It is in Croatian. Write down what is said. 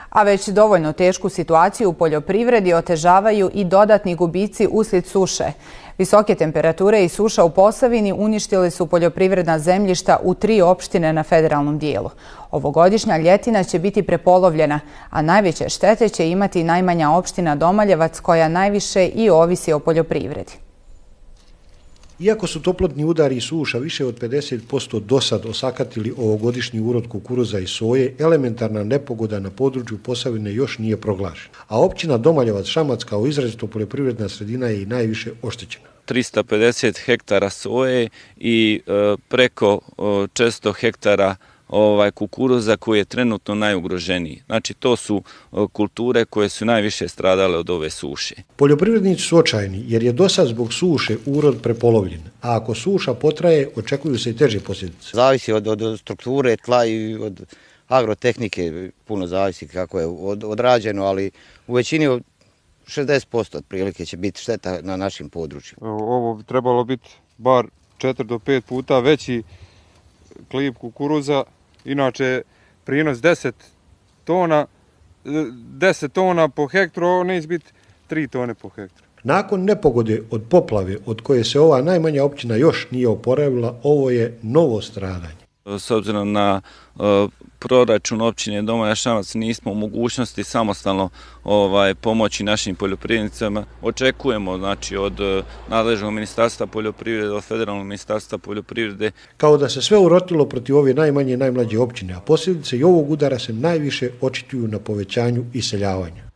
A već dovoljno tešku situaciju u poljoprivredi otežavaju i dodatni gubici uslijed suše. Visoke temperature i suša u Posavini uništili su poljoprivredna zemljišta u 3 opštine na federalnom dijelu. Ovogodišnja ljetina će biti prepolovljena, a najveće štete će imati najmanja opština Domaljevac, koja najviše i ovisi o poljoprivredi. Iako su toplotni udari i suša više od 50% dosad osakatili ovogodišnji urod kukuruza i soje, elementarna nepogoda na području Posavine još nije proglašena. A općina Domaljevac Šamac kao izrazito poljoprivredna sredina je i najviše oštećena. 350 hektara soje i preko 400 hektara kukuruza koji je trenutno najugroženiji. Znači, to su kulture koje su najviše stradale od ove suše. Poljoprivrednici su očajni jer je dosad zbog suše urod prepolovljen, a ako suša potraje, očekuju se i teže posljedice. Zavisi od strukture tla i od agrotehnike, puno zavisi kako je odrađeno, ali u većini 60% otprilike će biti šteta na našim područjima. Ovo bi trebalo biti bar 4 do 5 puta veći klip kukuruza. Inače, prinos 10 tona po hektaru, ovo neće biti 3 tone po hektaru. Nakon nepogode od poplave, od koje se ova najmanja općina još nije oporavila, ovo je novo stradanje. S obzirom na proračun općine Domaljevac Šamac nismo u mogućnosti samostalno pomoći našim poljoprivrednicama. Očekujemo od nadležnog ministarstva poljoprivrede, od federalnog ministarstva poljoprivrede. Kao da se sve urotilo protiv ove najmanje i najmlađe općine, a posljedice i ovog udara se najviše očituju na povećanju iseljavanja.